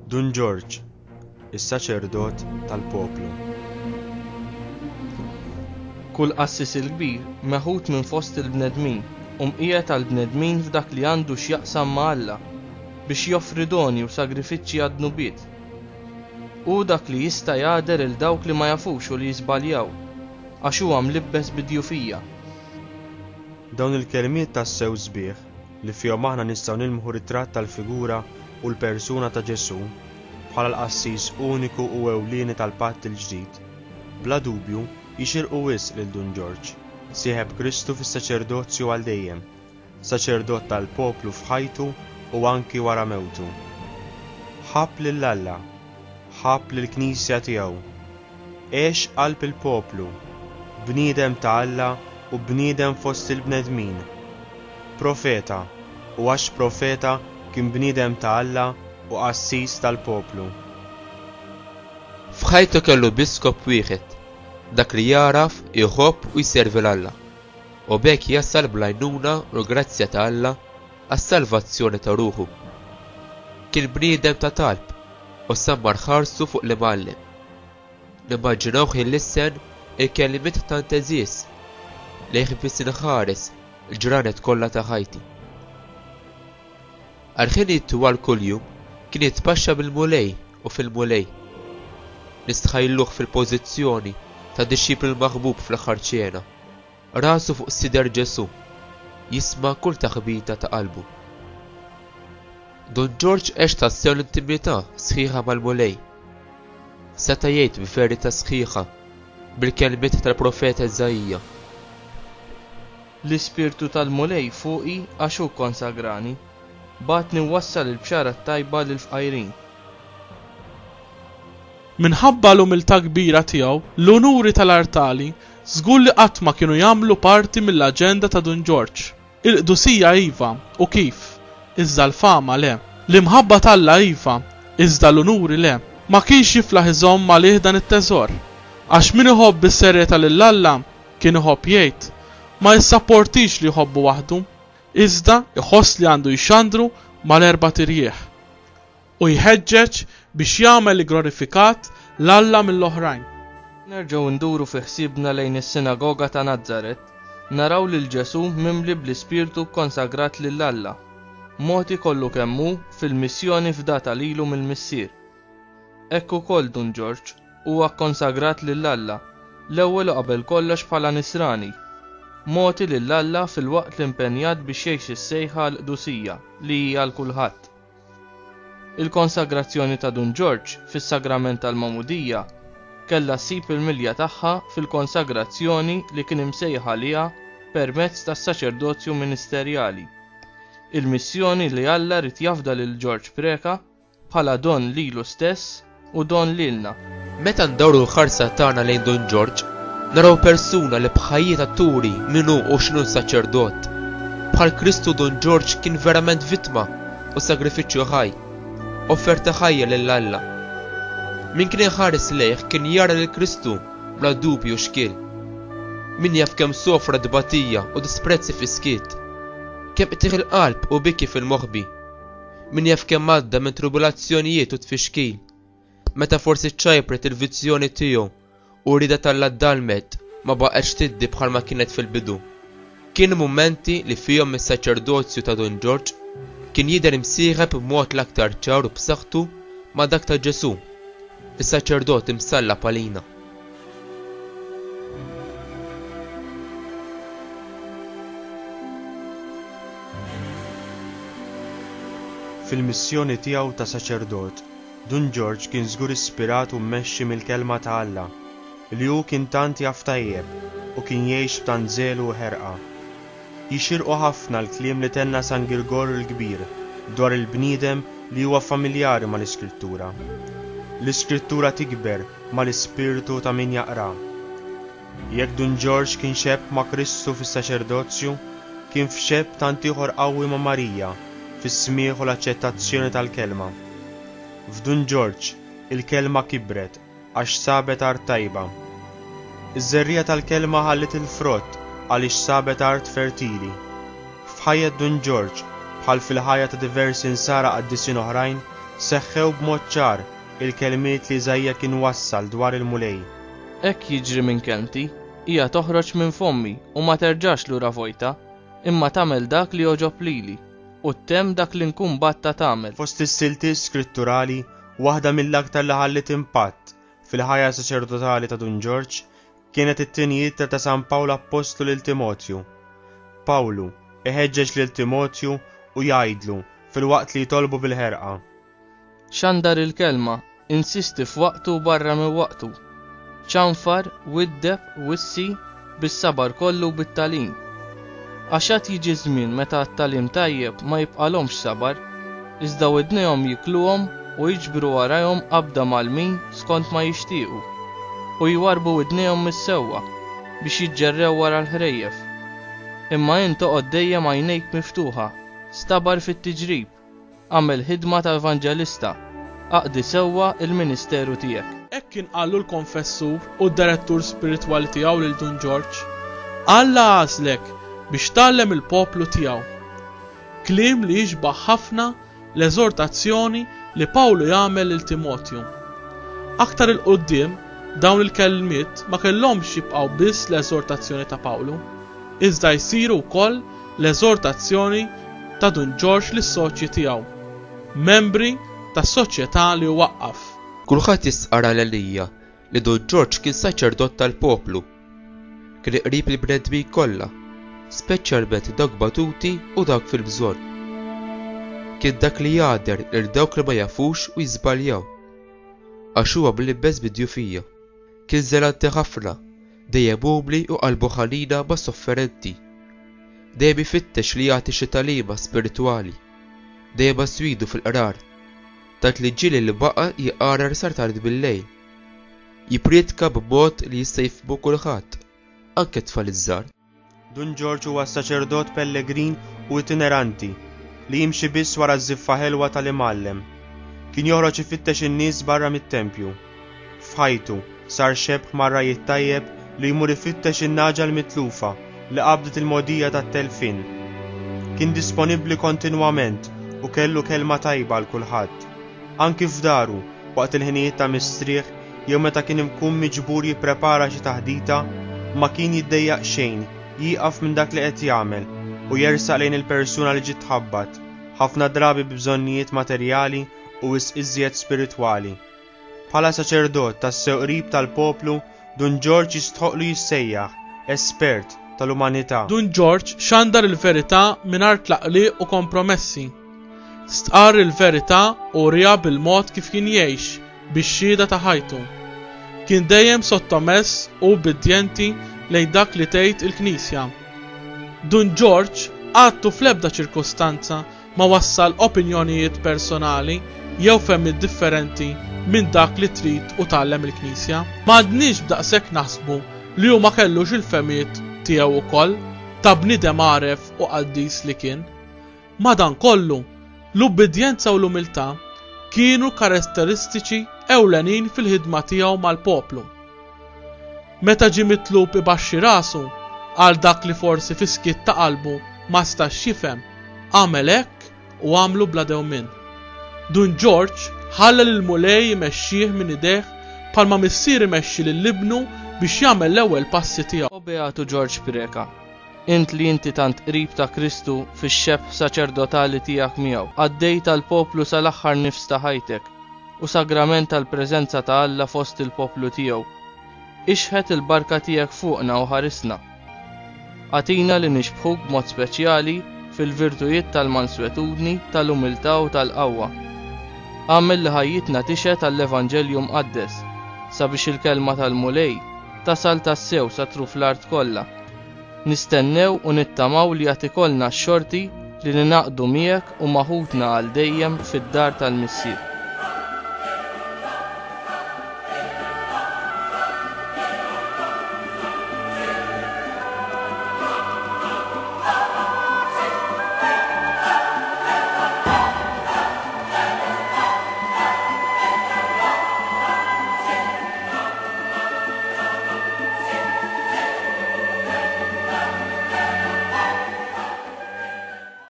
Dun Ġorġ, is-saċerdot tal-poplu. Kull qassis il-kbir meħud minn fost il-bnedmin u mqiegħed għall-bnedmin f'dak li għandu x'jaqsam ma' Alla, biex joffri doni u sagrifiċċji għad-dnubiet. Hu dak li jista' jagħder 'il dawk li ma jafux u li jiżbaljaw, għax huwa mlibbes bid-djufija. Dawn il-kelmiet tassew sbieħ, li fihom aħna nistgħu nilmħu ritratt tal-figura u l-persuna ta' Ġesù, bħala l-Qassis uniku u ewlieni tal-Patt il-Ġdid, bla dubju jixirqu wisq lil Dun Ġorġ, sieħeb Kristu fis-saċerdozju għal dejjem, saċerdot tal-poplu f'ħajtu u anki wara mewtu. Ħabb lil Alla, ħabb lill-Knisja tiegħu, għex qalb il-poplu, bniedem ta' Alla u bniedem fost il-bnedmin. Profeta, u għax profeta kien bniedem ta' Alla u qassis tal-poplu. F'ħajtu kellu biss skop wieħed, dak li jagħraf, iħobb u jservi 'l Alla, u b'hekk jasal bl-għajnuna u l-grazzja ta' Alla għas-salvazzjoni ta' ruħu. Kien bniedem ta' talb u sammar ħarsu fuq l-Imgħallem. Nimmaġinawh ilissen il-kelmiet tant għeżież, Lejh biss inħares l-ġranet kollha ta' ħajti. Għal ħinijiet twal kuljum kien jitpaxxa bil-Mulej u fil-Mulej. Nistħajluh fil-pożizzjoni ta' dixxiplu l-maħbub fl-aħħar ċena. Rasu fuq sider Ġesù, jisma' kull taħbita ta' qalbu. Dun Ġorġ għex tassew l-intimità sħiħa mal-Mulej. Seta' jgħid b'verità sħiħa, bil-kelmiet tal-profeta Iżaija. L-Ispirtu tal-Mulej fuqi għax hu kkonsagrani, bagħatni nwassal il-bxara t-tajba lill-fqajrin. Minħabba l-umiltà kbira tiegħu, l-unuri tal-artali żgur li qatt ma kienu jagħmlu parti mill-aġenda ta' Dun Ġorġ. Il-qdusija iva, u kif, iżda l-fama le. L-imħabba t'Alla iva, iżda l-unuri le. Ma kienx jiflaħ iżomm għalih dan it-teżor. Għax min iħobb bis-serjetà lil Alla, kien iħobb jgħid, ma jissapportix li jħobbu waħdu, iżda jħoss li għandu jxandru mal-erbat irjieħ. U jħeġġeġ biex jagħmel igglorifikat 'l Alla mill-oħrajn. Nerġgħu nduru fi ħsiebna lejn is-sinagoga ta' Nazaret, naraw lil Ġesù mimli bl-Ispirtu kkonsagrat lil Alla, mogħti kollu kemm hu fil-missjoni fdata lilu mill-Missier. Hekk ukoll Dun Ġorġ huwa kkonsagrat lil Alla, l-ewwel u qabel kollox bħala Nisrani, mogħti lil Alla filwaqt li impenjat biex jgħix is-sejħa għall-qdusija li hi għal kulħadd. Il-konsagrazzjoni ta' Dun Ġorġ fis-sagrament tal-Magħmudija kellha ssib il-milja tagħha fil-konsagrazzjoni li kien imsejjaħ għaliha permezz tas-saċerdozju ministerjali, il-missjoni li Alla ried jafda lil Ġorġ Preca bħala don lilu stess u don lilna. Meta ndawru l-ħarsa tagħna lejn Dun Ġorġ, naraw persuna li b'ħajjitha turi min hu u x'inhu saċerdot. Bħal Kristu Dun Ġorġ kien verament vittma u sagrifiċċju ħaj, offerta ħajja lil Alla. Min kien iħares lejh kien jara lil Kristu bla dubju u xkiel. Min jaf kemm sofra tbatija u disprezzi fis-skiet, kemm qtigħ il-qalb u biki fil-moħbi. Min jaf kemm għadda minn tribulazzjonijiet u tfixkil, meta forsi ċċajpret il-vizzjoni tiegħu u r-rieda t'Alla ddalmet ma baqgħetx tiddi bħalma kienet fil-bidu. Kienu mumenti li fihom is-saċerdozju ta' Dun Ġorġ kien jidher imsieħeb b'mod l-aktar ċar u b'saħħtu ma' dak ta' Ġesù, is-saċerdot imsallab għalina. Fil-missjoni tiegħu ta' saċerdot, Dun Ġorġ kien żgur ispirat u mmexxi mill-Kelma ta' Alla, li hu kien tant jaf tajjeb u kien jgħix b'tant żelu u ħerqa. Jixirqu ħafna l-kliem li tenna San Girgor il-Kbir dwar il-bniedem li huwa familjari mal-Iskrittura. L-Iskrittura tikber mal-ispirtu ta' min jaqraha. Jekk Dun Ġorġ kien xebh ma' Kristu fis-saċerdozju, kien f'xebh tant ieħor qawwi ma' Marija fis-smigħ u l-aċċettazzjoni tal-Kelma. F'Dun Ġorġ, il-Kelma kibret għax sabet art tajba. Iż-żerriegħa tal-Kelma ħalliet il-frott għaliex sabet art fertili. F'ħajjet Dun Ġorġ, bħal fil-ħajja ta' diversi Nsara qaddisin oħrajn, Seħħew b'mod ċar il-kelmiet li Iżaija kien wassal dwar il-Mulej. Hekk jiġri minn kelmti, hija toħroġ minn fommi u ma terġax lura vojta, imma tagħmel dak li jogħġob lili, u ttemm dak li nkun bgħattha tagħmel. Fost is-siltiet skritturali, waħda mill-aktar li ħalliet impatt fil-ħajja saċerdotali ta' Dun Ġorġ kienet it-tieni ittra ta' San Pawl Appostlu lil Timotju. Pawlu iħeġġeġ lil Timotju u jgħidlu filwaqt li jitolbu bil-ħerqa. Xandar il-kelma, insisti f'waqtu u barra minn waqtu. Ċanfar, widdeb, wissi, bis-sabar kollu u bit-tagħlim. Għax għad jiġi żmien meta għat-tagħlim tajjeb ma jibqalhomx sabar, iżda widnejhom jikluhom u jiġbru warajhom qabda mgħallmin skont ma jixtiequ, u jwarrbu widnejhom mis-sewwa, biex jiġġerrew wara l-ħrejjef. Imma int oqgħod dejjem għajnejk miftuħa, stabar fit-tiġrib, agħmel ħidma ta' evanġelista, aqdi sewwa l-ministeru tiegħek. Hekk kien qallu l-konfessur u d-direttur spiritwali tiegħu lil Dun Ġorġ, Alla għażlek biex tgħallem il-poplu tiegħu. Kliem li jixbah ħafna l-eżortazzjoni li Pawlu jagħmel lil Timotju. Aktar 'il quddiem, dawn il-kelmiet ma kellhomx jibqgħu biss l-eżortazzjoni ta' Pawlu, iżda jsiru wkoll l-eżortazzjoni ta' Dun Ġorġ lis-soċji tiegħu, membri tas-soċjetà li hu waqqaf. Kulħadd jistqarr għalenija li Dun Ġorġ kien saċerdot tal-poplu. Kien qrib il-bnedmin kollha, speċjalment dawk batuti u dawk fil-bżonn. Kien dak li jagħder lil dawk li ma jafux u jiżbaljaw, għax huwa mlibbes bid-djufija. Kien żelanti ħafna, dejjem umli u qalbu ħanina mas-sofferenti. Dejjem ifittex li jagħti xi tagħlima spiritwali. Dejjem aswidu fil-qrar, tant li ġieli li baqa' jqarar sar tard bil-lejl. Jipprietka b'mod li jista' jifhmu kulħadd, anke t-tfal iż-żgħar. Dun Ġorġ huwa saċerdot pellegrin u itineranti li jimxi biss wara ż-żiffa ħelwa tal-Imgħallem. Kien joħroġ ifittex in-nies barra mit-tempju. F'ħajtu, sar xebh mar-ragħaj it-tajjeb li jmur ifittex in-nagħġa l-mitlufa li qabdet il-mogħdija tat-telfien. Kien disponibbli kontinwament u kellu kelma tajba għal kulħadd. Anki f'daru, waqt il-ħinijiet ta' mistrieħ jew meta kien ikun miġbur jipprepara xi taħdita, ma kien jiddejjaq xejn jieqaf minn dak li qed jagħmel u jersaq lejn il-persuna li ġiet tħabbat, ħafna drabi bi bżonnijiet materjali u wisq iżjed spiritwali. Bħala saċerdot tassew qrib tal-poplu, Dun Ġorġ jistħoqqlu jissejjaħ espert tal-umanità. Dun Ġorġ xandar il-verità mingħajr tlaqliq u kompromessi. Stqarr il-verità u wriha bil-mod kif kien jgħix bix-xhieda ta' ħajtu. Kien dejjem sottomess u ubbidjenti lejn dak li tgħid il-Knisja. Dun Ġorġ qatt u fl-ebda ċirkustanza ma wassal opinjonijiet personali jew fehmiet differenti minn dak li trid u tgħallem il-Knisja. M'għandniex b'daqshekk naħsbu li hu ma kellux il-fehmiet tiegħu wkoll, ta' bniedem għaref u qaddis li kien. Madankollu, l-ubbidjenza u l-umiltà kienu karatteristiċi ewlenin fil-ħidma tiegħu mal-poplu. Meta ġie mitlub ibaxxi rasu għal dak li forsi fis-skiet ta' qalbu ma stax jifhem, għamel hekk u għamlu bla dewmien. Dun Ġorġ ħalla lill-Mulej imexxih minn idejh bħalma missier imexxi lil ibnu biex jagħmel l-ewwel passi tiegħu. O Beatu Ġorġ Preca, int li inti tant qrib ta' Kristu fix-xebh saċerdotali tiegħek miegħu, qaddej tal-poplu sal-aħħar nifs ta' ħajtek, u sagrament tal-preżenza ta' Alla fost il-poplu tiegħu, ixħet il-barka tiegħek fuqna u ħarisna. Agħtina li nixbħuk b'mod speċjali fil-virtujiet tal-manswetudni, tal-umiltà u tal-qawwa. Agħmel li ħajjitna tixhed għall-Evanġelju Mqaddes, sabiex il-kelma tal-Mulej tasal tassew sa truf l-art kollha. Nistennew u nittamaw li għad ikollna x-xorti li ningħaqdu miegħek u ma' ħutna għal dejjem fid-dar tal-Missier.